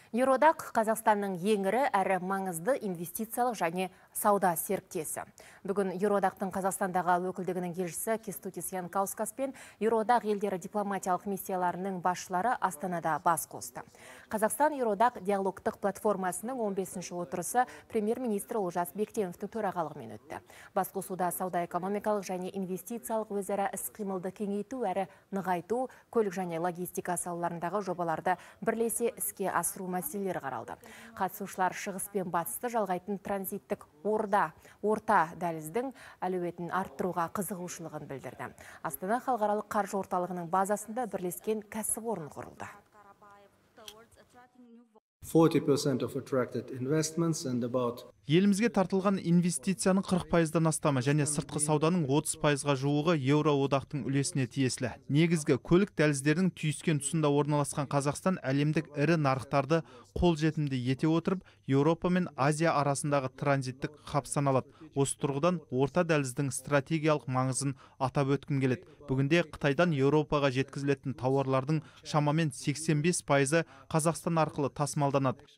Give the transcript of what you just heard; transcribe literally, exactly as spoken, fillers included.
Еуроодақ Қазақстанның ең ірі әрі маңызды инвестициялық және сауда серіктесі. Бүгін Еуроодақтың Қазақстандағы өкілдігінің елшісі Кестутис Янкаускас пен Еуроодақ елдері дипломатиялық миссияларының басшылары Астанада бас қосты. Қазақстан Еуроодақ диалогтық платформасының он бесінші отырысы премьер-министр Олжас Бектеновтің төрағалығымен өтті. Басқосуда сауда-экономикалық және инвестициялық өзара іс-қимылды кеңейту әрі нығайту, көлік және логистика салаларындағы жобаларды бірлесе іске асыру мәселелері қаралды. Қатысушылар шығыс пен батысты жалғайтын транзиттік орда, орта дәліздің әлеуетін арттыруға қызығушылығын білдірді. Астана халықаралық қаржы орталығының базасында бірлескен кәсіпорын құрылды. forty percent of attracted investments and about Елімізге тартылған инвестицияның қырық пайыздан астамы және сыртқы сауданың отыз пайызға жуығы Еуроодақтың үлесіне тиесілі. Негізгі көлік дәліздердің түйіскен тұсында орналасқан Қазақстан әлемдік ірі нарықтарды қолжетімді ете отырып, Еуропа мен Азия арасындағы транзиттік хаб саналады. Осы тұрғыдан орта дәліздің стратегиялық маңызын атап өткім келеді. Бүгінде Қытайдан Еуропаға жеткізілетін тауарлардың шамамен сексен бес пайызы Қазақстан арқылы тасымалданады.